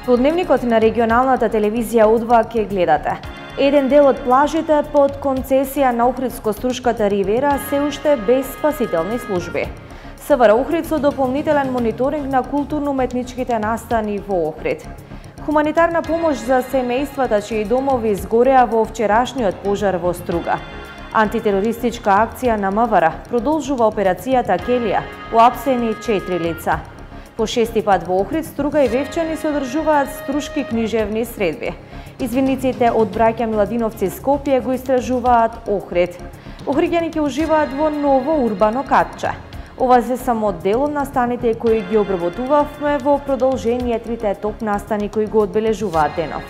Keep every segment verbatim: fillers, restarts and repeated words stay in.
Во дневникот на регионалната телевизија У два ќе гледате. Еден дел од плажите под концесија на Охридско-Струшката ривера се уште без спасителни служби. СВР Охрид со дополнителен мониторинг на културно-уметничките настани во Охрид. Хуманитарна помош за семејствата чии домови изгореа во вчерашниот пожар во Струга. Антитерористичка акција на МВР продолжува операцијата Келија, уапсени четири лица. По шести пат во Охрид, Струга и Вевчани се одржуваат струшки книжевни средби. Извиниците од браќа Миладиновци Скопје го истражуваат Охрид. Охриѓани ќе уживаат во ново урбано катче. Ова се само дел од настаните кои ги обработувавме во продолжение трите топ настани кои го одбележуваат денов.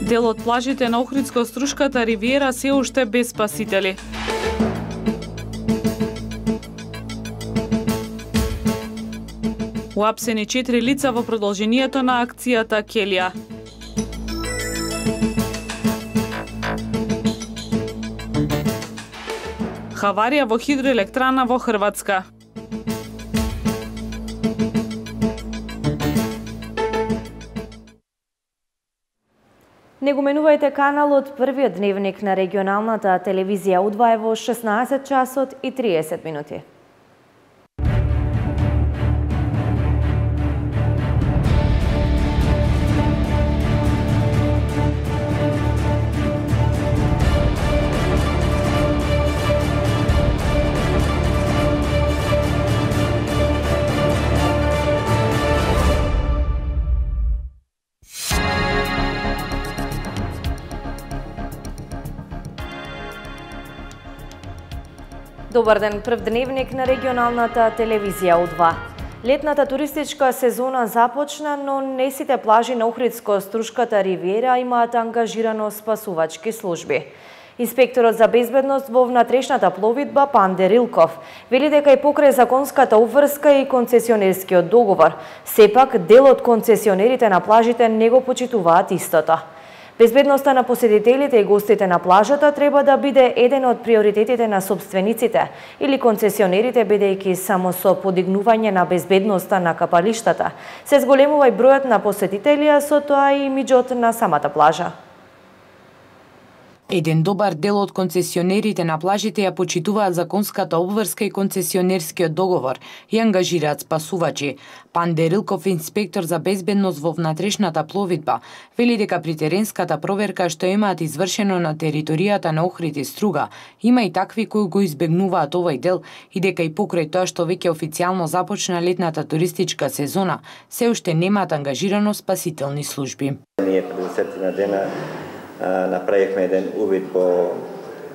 Дел од плажите на Охридско-Струшката ривиера се уште без спасители. Уапсени четири лица во продолжението на акцијата Келија. Хаварија во хидроелектрана во Хрватска. Не го менувајте каналот, првиот дневник на регионалната телевизија У два е во шеснаесет часот и триесет минути. Добар ден, прв дневник на регионалната телевизија У два. Летната туристичка сезона започна, но не сите плажи на Охридско-Струшката ривиера имаат ангажирано спасувачки служби. Инспекторот за безбедност во внатрешната пловидба Панде Рилков вели дека и покрај законската обврска и концесионерскиот договор, сепак дел од концесионерите на плажите не го почитуваат истото. Безбедноста на посетителите и гостите на плажата треба да биде еден од приоритетите на собствениците или концесионерите, бидејќи само со подигнување на безбедноста на капалиштата се зголемува и бројот на посетители, а со тоа и имиџот на самата плажа. Еден добар дел од концесионерите на плажите ја почитуваат законската обврска и концесионерскиот договор и ангажираат спасувачи. Панде Рилков, инспектор за безбедност во внатрешната пловидба, вели дека при теренската проверка што имаат извршено на територијата на Охрид и Струга, има и такви кои го избегнуваат овој дел и дека и покрај тоа што веќе официјално започна летната туристичка сезона, се уште немаат ангажирано спасителни служби. Ние пред десетина дена направивме еден увид по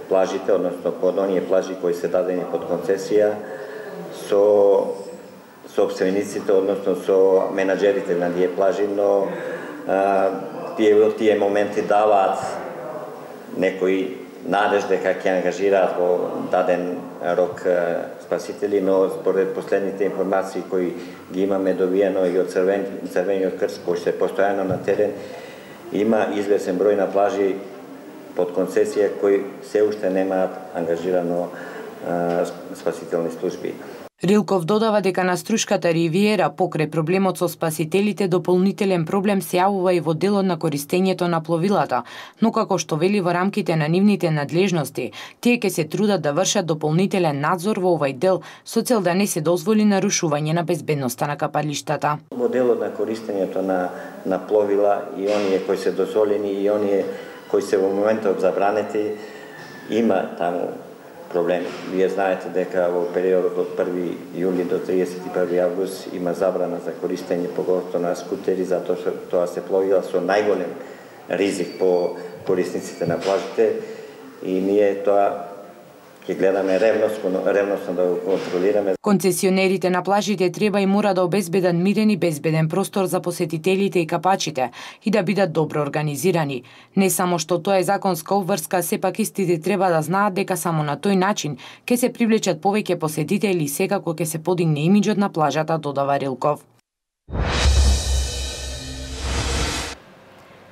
плажите, односно по оние плажи кои се дадени под концесија со собствениците, односно со менаџерите на тие плажи, но а, тие во тие моменти даваат некои надеж дека ќе ангажираат во даден рок спасители, но според последните информации кои ги имаме добиено и од Црвен, Црвениот крст, кој се постојано на терен, има извесен број на плажи под концесија кои се уште немаат ангажирано а, спасителни служби. Рилков додава дека на Струшката ривиера покрај проблемот со спасителите дополнителен проблем се јавува и во делот на користењето на пловилата, но како што вели во рамките на нивните надлежности, тие ќе се трудат да вршат дополнителен надзор во овој дел со цел да не се дозволи нарушување на безбедноста на капалиштата. Во делот на користењето на на пловила и оние кои се дозволени и оние кои се во моментот забранети, има таму проблеми. Вие знаете дека во периодот од први јули до триесет и први август има забрана за користење поготово на скутери, затоа што тоа се пловила со најголем ризик по корисниците на плажите и ние тоа ќе гледаме ревносно, ревносно да го контролираме. Концесионерите на плажите треба и мора да обезбедат мирен и безбеден простор за посетителите и капачите и да бидат добро организирани. Не само што тоа е законска обврска, сепак истите треба да знаат дека само на тој начин ќе се привлечат повеќе посетители и секако ќе се подигне имиџот на плажата, додава Рилков.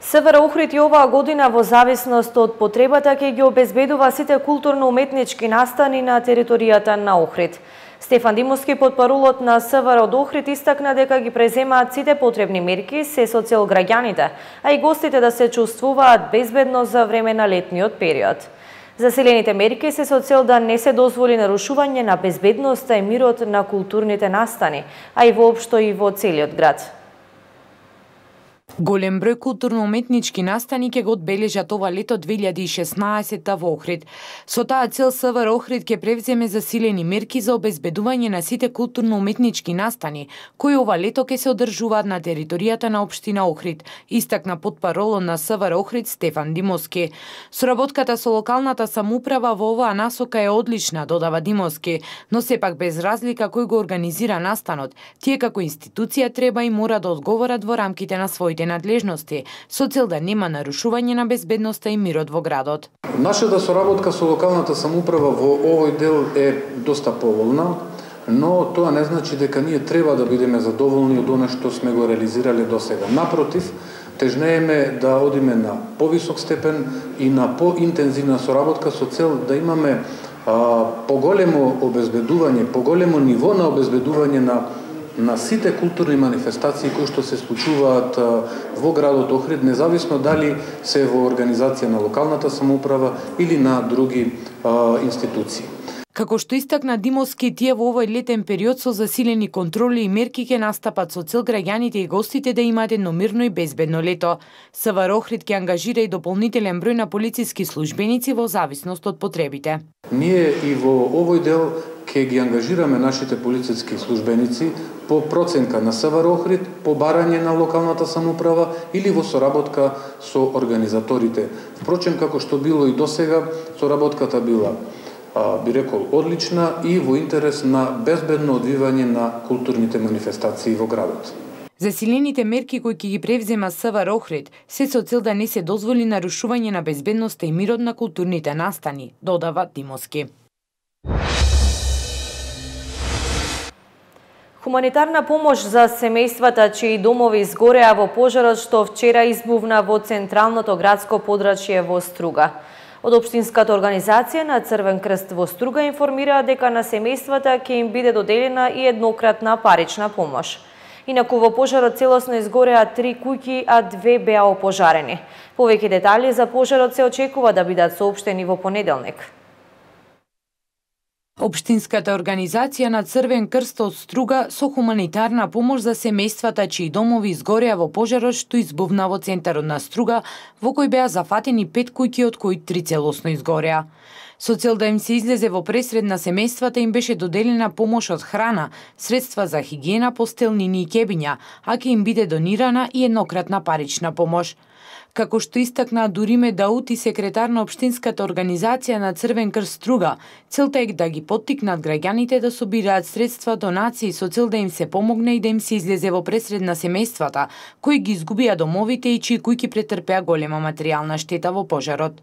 СВР Охрид и оваа година во зависност од потребата ќе ги обезбедува сите културно-уметнички настани на територијата на Охрид. Стефан Димовски, потпарулот на СВР од Охрид, истакна дека ги преземаат сите потребни мерки се со цел граѓаните, а и гостите да се чувствуваат безбедно за време на летниот период. Заселените мерки се со цел да не се дозволи нарушување на безбедноста и мирот на културните настани, а и воопшто и во целиот град. Голем број културно-уметнички настани ќе го одбележат ова лето две илјади и шеснаесетта во Охрид. Со таа цел СВР Охрид ќе превземе засилени мерки за обезбедување на сите културно-уметнички настани, кои ова лето ќе се одржуваат на територијата на општина Охрид, истакна потпаролот на СВР Охрид Стефан Димовски. Соработката со локалната самоуправа во оваа насока е одлична, додава Димовски, но сепак без разлика кој го организира настанот, тие како институција треба и мора да одговорат во рамките на своите надлежности, со цел да нема нарушување на безбедноста и мирот во градот. Нашата соработка со локалната самоуправа во овој дел е доста поволна, но тоа не значи дека ние треба да бидеме задоволни од она што сме го реализирале досега. Напротив, тежнееме да одиме на повисок степен и на поинтензивна соработка со цел да имаме а, поголемо обезбедување, поголемо ниво на обезбедување на на сите културни манифестации кои што се случуваат во градот Охрид, независно дали се во организација на локалната самоуправа или на други а, институции. Како што истакна Димовски, тие во овој летен период со засилени контроли и мерки ќе настапат со цел граѓаните и гостите да имаат едно мирно и безбедно лето. СВР Охрид ќе ангажира и дополнителен број на полициски службеници во зависност од потребите. Ние и во овој дел ќе ги ангажираме нашите полициски службеници по проценка на СВР Охрид, по барање на локалната самоуправа или во соработка со организаторите. Впрочем, како што било и досега, соработката била би рекол одлична и во интерес на безбедно одвивање на културните манифестации во градот. Засилените мерки кои ќе ги превзема СВР Охрид се со цел да не се дозволи нарушување на безбедноста и мирот на културните настани, додава Димовски. Хуманитарна помош за семејствата чии домови изгореа во пожарот што вчера избувна во централното градско подрачје во Струга. Од општинската организација на Црвен крст во Струга информира дека на семејствата ќе им биде доделена и еднократна парична помош. Инаку во пожарот целосно изгореа три куќи, а две беа опожарени. Повеќе детали за пожарот се очекува да бидат соопштени во понеделник. Општинската организација на Црвен крст од Струга со хуманитарна помош за семејствата чии домови изгореа во пожарот што избувна во центарот на Струга, во кој беа зафатени пет куќи, од кои три целосно изгореа. Со цел да им се излезе во пресред на семејствата им беше доделена помош од храна, средства за хигиена, постелнини и кебиња, а ќе им биде донирана и еднократна парична помош. Како што истакна Дуриме Даути, секретар на општинската организација на Црвен крст Струга, целта е да ги поттикнат граѓаните да собираат средства, донации со цел да им се помогне и да им се излезе во пресред на семејствата кои ги изгубија домовите и чии куќи претрпеа голема материјална штета во пожарот.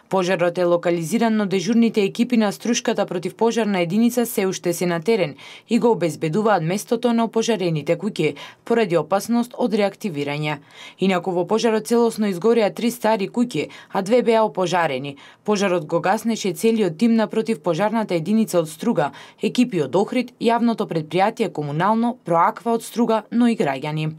Пожарот е локализиран, но дежурните екипи на Струшката противпожарна единица се уште се на терен и го обезбедуваат местото на опожарените куќи поради опасност од реактивирање. Инаку во пожарот целосно изгореа три стари куќи, а две беа опожарени. Пожарот го гаснеше целиот тим на противпожарната единица од Струга, екипи од Охрид, јавното предпријатие Комунално, Проаква од Струга, но и граѓани.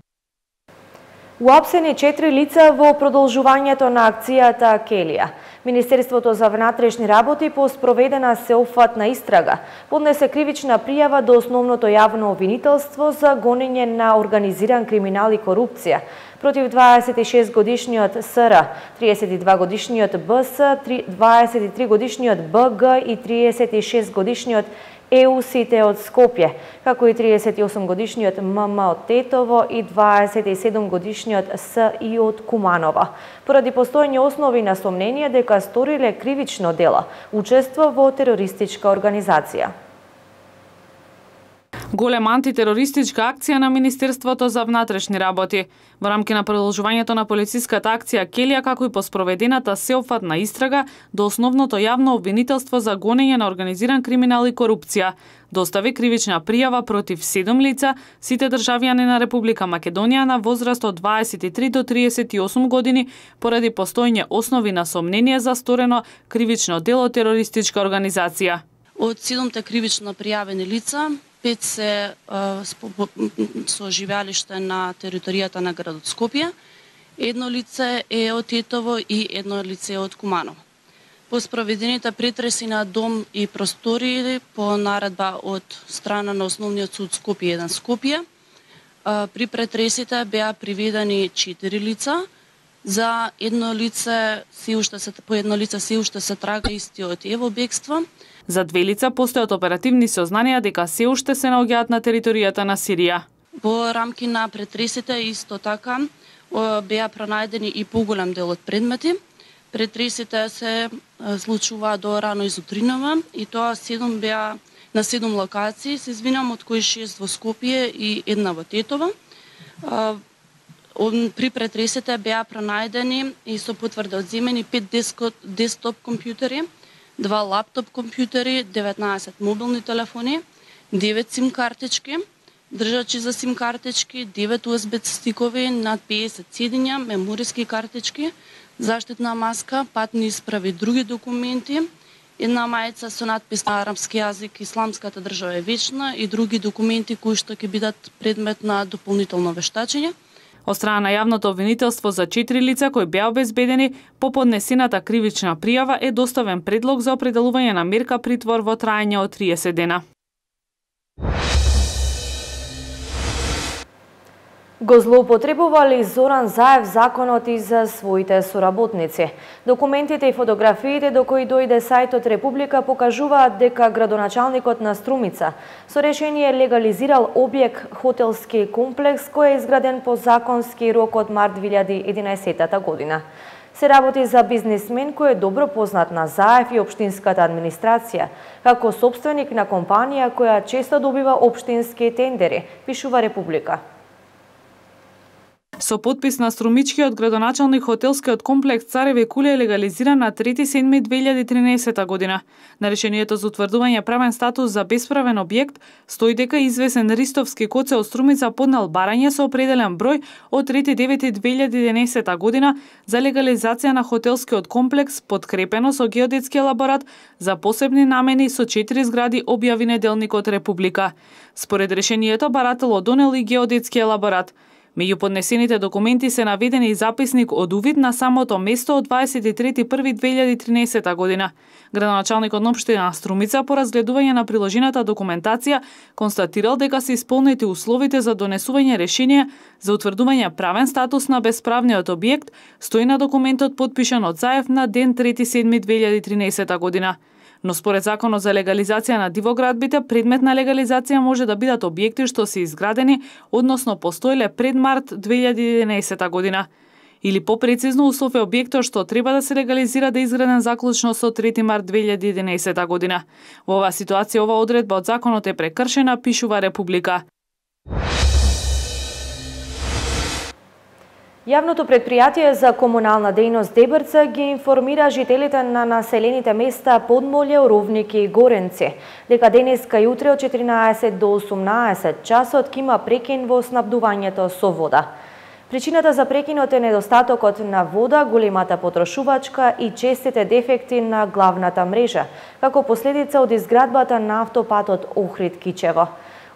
Уапсени четири лица во продолжувањето на акцијата Келија. Министерството за внатрешни работи по спроведена сеопфатна истрага поднесе кривична пријава до основното јавно обвинителство за гонење на организиран криминал и корупција против дваесет и шест годишниот СР, триесет и два годишниот БС, дваесет и три годишниот БГ и триесет и шест годишниот ЕУСите од Скопје, како и триесет и осум годишниот ММ од Тетово и дваесет и седум годишниот СИ од Куманово, поради постоење основи на сомнение дека сториле кривично дело, учество во терористичка организација. Голема антитерористичка акција на Министерството за внатрешни работи. Во рамки на продолжувањето на полициската акција Келија, како и по спроведената сеопфатна истрага до основното јавно обвинителство за гонење на организиран криминал и корупција, достави кривична пријава против седум лица, сите државјани на Република Македонија на возраст од дваесет и три до триесет и осум години, поради постоење основи на сомнение за сторено кривично дело терористичка организација. Од седумте кривично пријавени лица, пет се а, со живеалиште на територијата на градот Скопје, едно лице е од Тетово и едно лице е од Куманово. По спроведените претреси на дом и простории по наредба од страна на Основниот суд Скопје еден Скопје, а, при претресите беа приведени четири лица. За едно лице се уште се по едно лице се уште се трага истиот е во бегство. За две лица постојат оперативни сознанија дека се уште се наоѓаат на територијата на Сирија. Во рамки на претресите исто така беа пронајдени и поголем дел од предмети. Претресите се случуваат до рано изутринава и тоа седум беа на седум локации, се извинам, од кои шест во Скопје и една во Тетово. При претресите беа пронајдени и со потврда одземени пет десктоп компјутери, два лаптоп компјутери, деветнаесет мобилни телефони, девет сим картички, држачи за сим картички, девет ю ес би стикови, над педесет седиња, мемориски картички, заштитна маска, патни исправи и други документи, една мајца со надпис на арапски јазик "Исламската држава е вечна" и други документи кои што ќе бидат предмет на дополнително вештачење. Од страна на јавното обвинителство за четири лица кои беа обезбедени, по поднесената кривична пријава е доставен предлог за определување на мерка притвор во траење од триесет дена. Го злоупотребува ли Зоран Заев законот и за своите соработници? Документите и фотографиите до кои дојде сајтот Република покажуваат дека градоначалникот на Струмица со решение легализирал објект хотелски комплекс кој е изграден по законски рок од март две илјади и единаесетта година. Се работи за бизнисмен кој е добро познат на Заев и општинската администрација, како сопственик на компанија која често добива општински тендери, пишува Република. Со подпис на струмичкиот градоначалник хотелскиот комплекс Цареви кули е легализиран на трети седми две илјади и тринаесетта година. На решението за утврдување правен статус за бесправен објект стои дека извесен Ристовски коце од Струмица поднел барање со определен број од трети девети две илјади и единаесетта година за легализација на хотелскиот комплекс подкрепено со геодетски елаборат за посебни намени со четири згради, објави неделникот Република. Според решението барателот донел и геодетски елаборат. Меѓу поднесените документи се наведени и записник од увид на самото место од дваесет и трети први две илјади и тринаесетта година. Градоначалникот на општина Струмица по разгледување на приложената документација констатирал дека се исполнети условите за донесување решение за утврдување правен статус на бесправниот објект, стои на документот подпишан од Заев на ден трети седми две илјади и тринаесетта година. Но според законот за легализација на дивоградбите, предмет на легализација може да бидат објекти што се изградени, односно постоеле пред март две илјади и единаесетта година. Или попрецизно услов е објектот што треба да се легализира да е изграден заклучно со трети март две илјади и единаесетта година. Во оваа ситуација ова одредба од законот е прекршена, пишува Република. Јавното предпријатие за комунална дејност Дебрца ги информира жителите на населените места Подмолје, Оровник и Горенци дека денеска и утре од четиринаесет до осумнаесет часот ќе има прекин во снабдувањето со вода. Причината за прекинот е недостатокот на вода, големата потрошувачка и честите дефекти на главната мрежа, како последица од изградбата на автопатот Охрид-Кичево.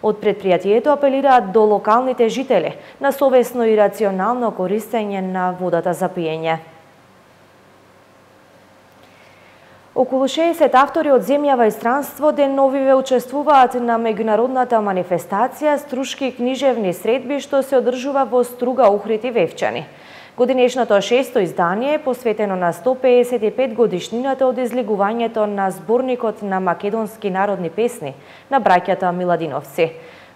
Од предпријатието апелираат до локалните жители на совесно и рационално користење на водата за пиење. Околу шеесет автори од земја во странство деновиве учествуваат на меѓународната манифестација Струшки книжевни средби што се одржува во Струга, Охрид и Вевчани. Годинешното шесто издание е посветено на сто пеесет и пет годишнината од излегувањето на зборникот на македонски народни песни на браќата Миладиновци.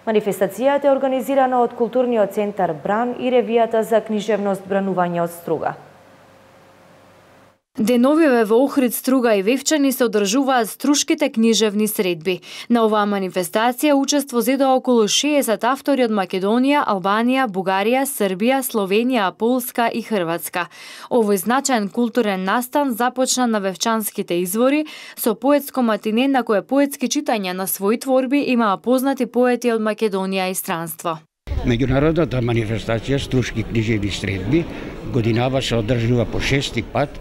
Манифестацијата е организирана од Културниот центар Бран и ревијата за книжевност Бранување од Струга. Деновиве во Охрид, Струга и Вевчани се одржуваат струшките книжевни средби. На оваа манифестација учество зедоа околу шеесет автори од Македонија, Албанија, Бугарија, Србија, Словенија, Полска и Хрватска. Овој значаен културен настан започна на Вевчанските извори со поетско матине на кое поетски читања на своји творби имаа познати поети од Македонија и странство. Меѓународната манифестација Струшки книжевни средби годинава се одржува по шести пат,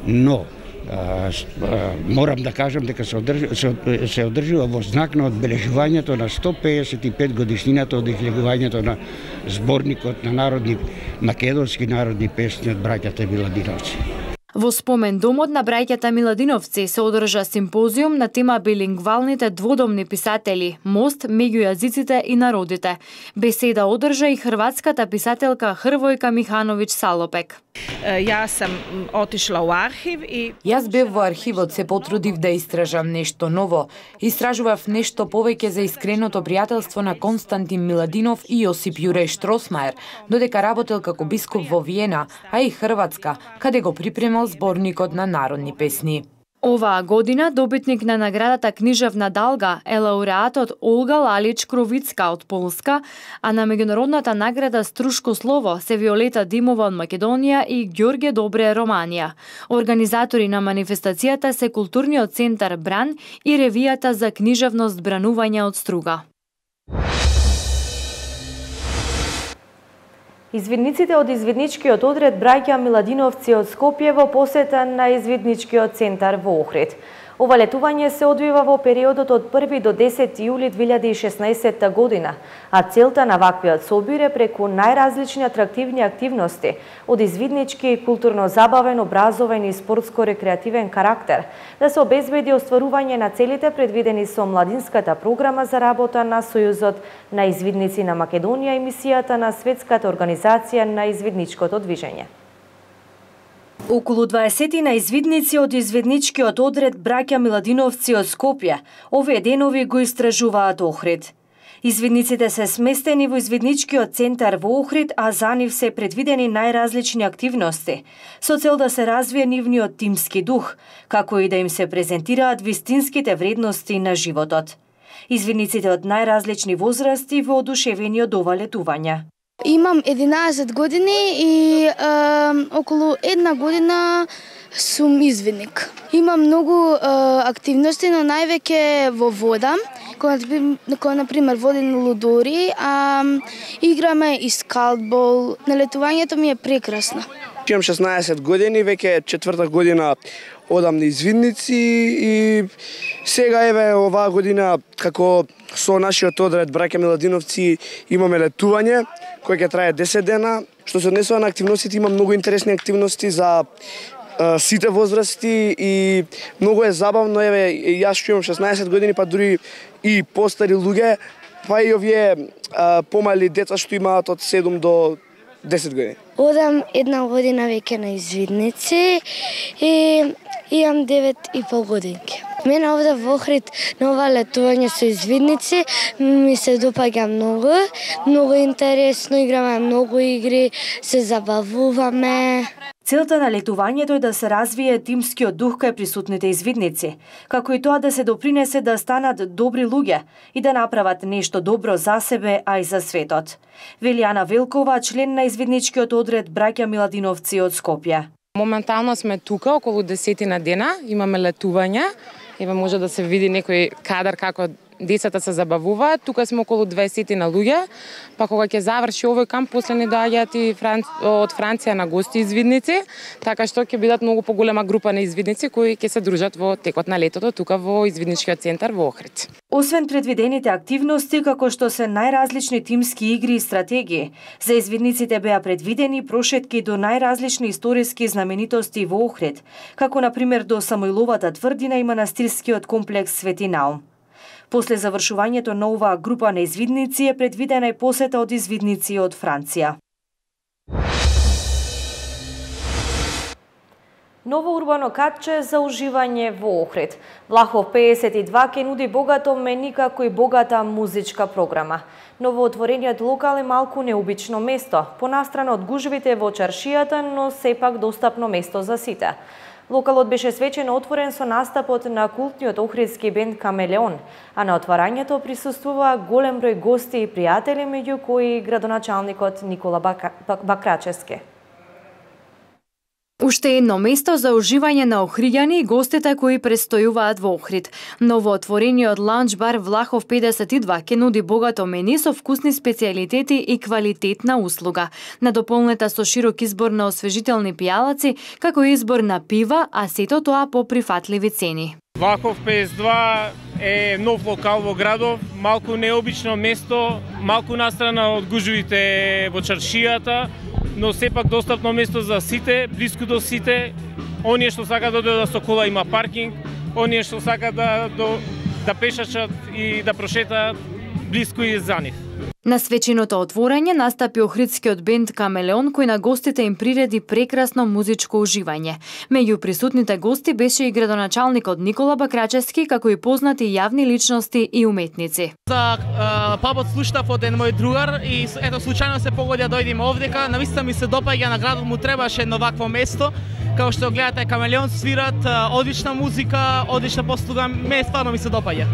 но а, а, морам да кажам дека се, одрж, се, се одржува во знак на одбележувањето на сто пеесет и пет годишнината од излегувањето на зборникот на народни македонски народни песни од браќата Миладиновци. Во спомен домот на браќата Миладиновци се одржа симпозиум на тема билингвалните дводомни писатели, мост меѓу јазиците и народите. Беседа одржа и хрватската писателка Хрвојка Михановиќ Салопек. Јас сам отишла во архив и Јас бев во архивот, се потрудив да истражам нешто ново. Истражував нешто повеќе за искреното пријателство на Константин Миладинов и Јосип Јуреј Штросмаер, додека работел како бискуп во Виена, а и Хрватска, каде го припремал зборникот на народни песни. Оваа година добитник на наградата Книжевна Далга е лауреатот Олга Лалич Кровицка од Полска, а на меѓународната награда Струшко слово се Виолета Димова од Македонија и Ѓорге Добре Романија. Организатори на манифестацијата се Културниот центар Бран и ревијата за книжевност Бранување од Струга. Извидниците од извидничкиот одред браќа Миладиновци од Скопје во посета на извидничкиот центар во Охрид. Ова летување се одвива во периодот од први до десети јули две илјади и шеснаесетта година, а целта на ваквиот собир е преку најразлични атрактивни активности од извиднички, културно-забавен, образовен и спортско-рекреативен карактер да се обезбеди остварување на целите предвидени со младинската програма за работа на Сојузот на извидници на Македонија и мисијата на Светската организација на извидничкото движење. Околу дваесетина извидници од извидничкиот одред браќа Миладиновци од Скопје овие денови го истражуваат Охрид. Извидниците се сместени во извидничкиот центар во Охрид, а за нив се предвидени најразлични активности, со цел да се развие нивниот тимски дух, како и да им се презентираат вистинските вредности на животот. Извидниците од најразлични возрасти воодушевени од ова летување. Имам единаесет години и е, околу една година сум извидник. Имам многу е, активности, но највеќе во вода, кој на пример водени лудори, а играме и скалбол. Налетувањето ми е прекрасно. Имам шеснаесет години, веќе четврта година одам на извидници и сега еве оваа година како со нашиот одред браќа Миладиновци имаме летување кој ќе трае десет дена. Што се однесува на активностите, има многу интересни активности за е, сите возрасти и многу е забавно. Еве јас што имам шеснаесет години, па дури и постари луѓе, па и овие е, помали деца што имаат од седум до десет години. Одам една година веќе на извидници и имам девет и пол годинки. Мене овде во Охрид на ова летување со извидници ми се допаѓа многу, многу интересно, играме многу игри, се забавуваме. Целта на летувањето е да се развие тимскиот дух кај присутните извидници, како и тоа да се допринесе да станат добри луѓе и да направат нешто добро за себе, а и за светот. Вели Ана Велкова, член на извидничкиот одред браќа Миладиновци од Скопје. Моментално сме тука околу десетина дена, имаме летување. Еве може да се види некој кадар како децата се забавуваат. Тука сме околу дваесетина луѓе, па кога ќе заврши овој камп, после не доаѓаат и Франц... од Франција на гости извидници, така што ќе бидат многу поголема група на извидници кои ќе се дружат во текот на летото тука во извидничкиот центар во Охрид. Освен предвидените активности, како што се најразлични тимски игри и стратегии, за извидниците беа предвидени прошетки до најразлични историски знаменитости во Охрид, како на пример до Самоиловата тврдина и манастирскиот комплекс Свети Наум. После завршувањето на оваа група на извидници е предвидена и посета од извидници од Франција. Ново урбано катче за уживање во Охрид. Влахов пеесет и два ќе нуди богато меню како и богата музичка програма. Новоотворениот локал е малку необично место, понастрано од гужвите во чаршијата, но сепак достапно место за сите. Локалот беше свечено отворен со настапот на култниот охридски бенд Камелеон, а на отварањето присуствува голем број гости и пријатели, меѓу кои градоначалникот Никола Бакрачевски. Уште едно место за уживање на охриѓани и гостите кои престојуваат во Охрид. Новоотворениот лаунџ бар Влахов педесет и два ќе нуди богато мени со вкусни специјалитети и квалитетна услуга, надополнета со широк избор на освежителни пијалаци, како и избор на пива, а сето тоа по прифатливи цени. Влахов педесет и два е нов локал во градов, малку необично место, малку настрана од гужвите во чаршијата, но сепак достапно место за сите, блиску до сите. Оние што сакаат да дојдат со кола има паркинг, оние што сакаат да, до, да пешачат и да прошетаат, блиску и за нив. На свеченото отворање настапи охридскиот бенд Камелеон, кој на гостите им приреди прекрасно музичко уживање. Меѓу присутните гости беше и градоначалникот Никола Бакрачевски, како и познати јавни личности и уметници. За пабот слуштав од еден мој другар и ето случајно се погоди да дојдеме овдека. Навистина ми се допаѓа, на градот му требаше едно вакво место. Као што гледате, Камелеон свират, одлична музика, одлична послуга, ме стварно ми се допаѓа.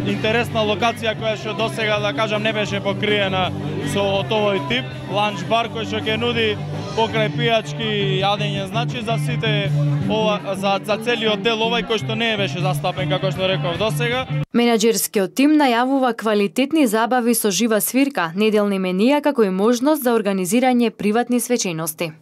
Интересна локација која што досега, да кажам, не беше покриена со овој тип ланч бар кој што ќе нуди покрај пијачки јадење, значи за сите ова, за за целиот дел овај кој што не беше застапен како што реков досега. Менаџерскиот тим најавува квалитетни забави со жива свирка, неделни менија како и можност за организирање приватни свечености.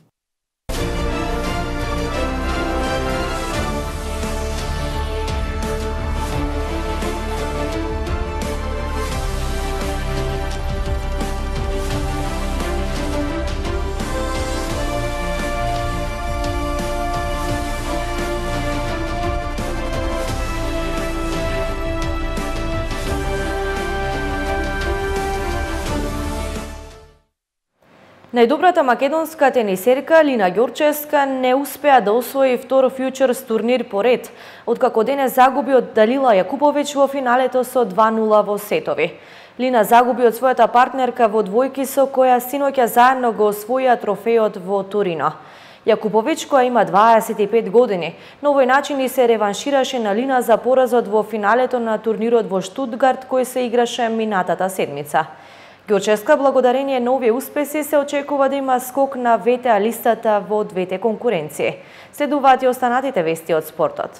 Најдобрата македонска тенисерка Лина Ѓорчевска не успеа да освои втор фјучерс турнир поред, откако денес загуби од Далила Јакуповиќ во финалето со два нула во сетови. Лина загуби од својата партнерка во двојки со која синоќа заедно го освоија трофејот во Торино. Јакуповиќ, која има дваесет и пет години, на овој начин и се реваншираше на Лина за поразот во финалето на турнирот во Штутгарт кој се играше минатата седмица. Ѓорчевска, благодарение на овие успеси, се очекува да има скок на ве те а листата во двете конкуренции. Следуваат и останатите вести од спортот.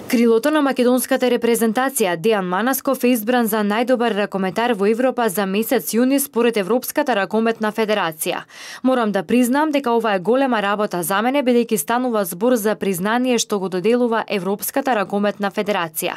Крилото на македонската репрезентација Дејан Манасков е избран за најдобар ракометар во Европа за месец јуни според Европската ракометна федерација. Морам да признам дека ова е голема работа за мене, бидејќи станува збор за признание што го доделува Европската ракометна федерација.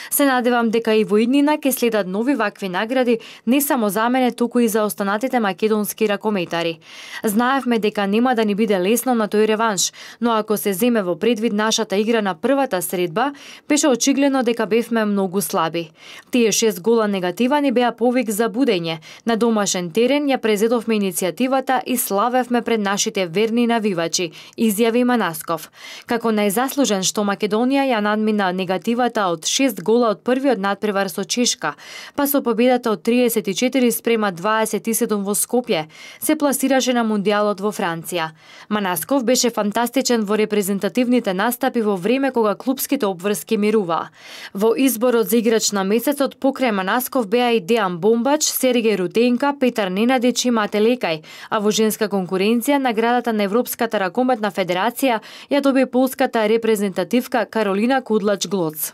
Се надевам дека и во иднина ќе следат нови вакви награди, не само за мене, туку и за останатите македонски ракометари. Знаевме дека нема да ни биде лесно на тој реванш, но ако се земе во предвид нашата игра на првата средба, беше очигледно дека бевме многу слаби. Тие шест гола негатива ни беа повик за будење. На домашен терен ја презедовме иницијативата и славевме пред нашите верни навивачи, изјави Манасков. Како најзаслужен што Македонија ја надмина негативата од шест гола од првиот надпревар со Чешка, па со победата од триесет и четири спрема дваесет и седум во Скопје, се пласираше на Мундијалот во Франција. Манасков беше фантастичен во репрезентативните настапи во време кога клупските обврски мирува. Во изборот за играч на месецот покрај Манасков беа и Дејан Бомбач, Сергеј Рутенка, Петар Ненадич и Мате Лекај, а во женска конкуренција наградата на Европската ракометна федерација ја доби полската репрезентативка Каролина Кудлач-Глоц.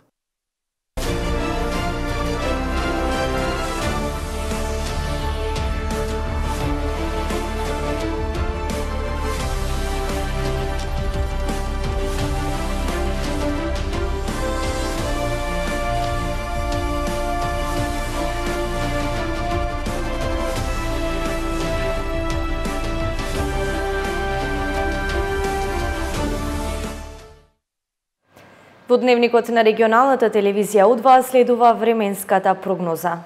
Во дневникот на регионалната телевизија У два следува временската прогноза.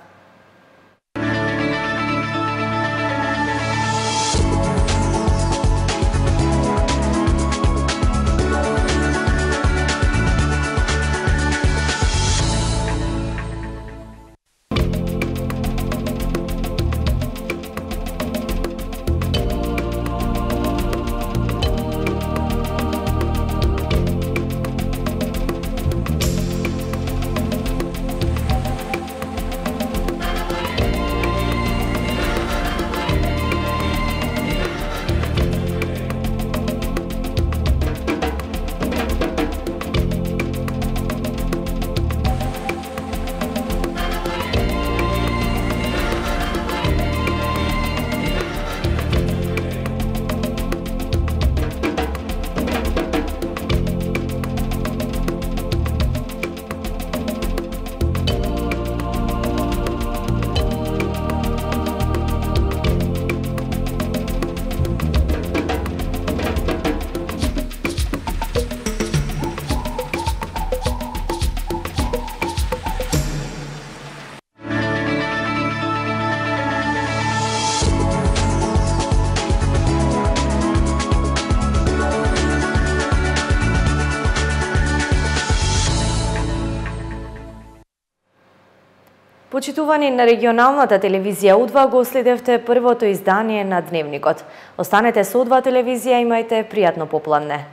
Почитувани на регионалната телевизија Удва, го следевте првото издание на Дневникот. Останете со Удва телевизија, имајте пријатно попладне.